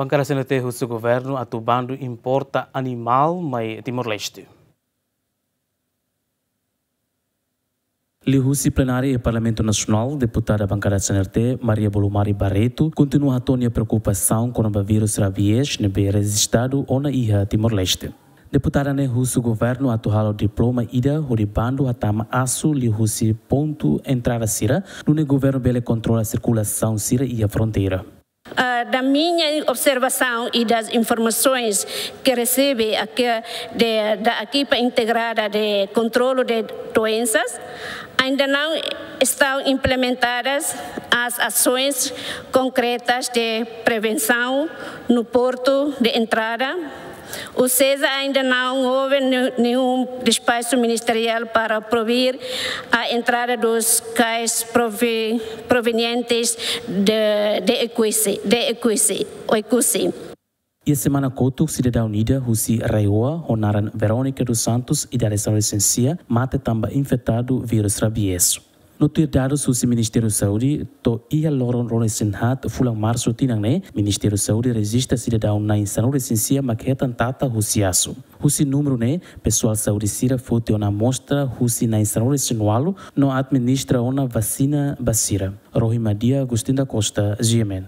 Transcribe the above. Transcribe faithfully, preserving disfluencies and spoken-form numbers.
Bankada C N R T husu governu atu bandu importa animál mai Timor-Leste. Liuhusi plenária iha Parlamentu Nasionál, deputada bankada C N R T, Maria Bolumari Barreto, kontinua hato'o nia preokupasaun kona-ba vírus rabies ne'ebé rejistadu ona iha Timor-Leste. Deputada ne'e husu governu atu halo diploma ida hodi bandu hatama asu liuhusi pontu entrada sira, nune'e governu bele kontrola sirkulasaun sira iha fronteira. Ah, da minha observação e das informações que recebi aqui de, da equipa integrada de controlo de doenças, ainda não estão implementadas as ações concretas de prevenção no porto de entrada. Ou seja, ainda não houve ne-, nenhum despacho ministerial para proibir a entrada dos cães provi-, provenientes de, de Oekusi, de Oekusi, Oekusi. Iha semana kotuk, sidadaun ida husi RAEOA, ho naran Verónica dos Santos, idade sanulu-resin-sia, mate tanba infetadu vírus rabies. No tuir dadus husi Ministériu Saúde, to'o iha loron ruanulu-resin-haat fulan Marsu tinan ne'e, Ministériu Saúde rejista sidadaun na'in sanulu-resin-sia mak hetan tata husi asu. Husi númeru ne'e, pesoál saúde sira foti ona amostra husi na'in sanulu-resin-ualu no administra ona vasina ba sira. Rohi Madia, Agostinho da Costa, G M N.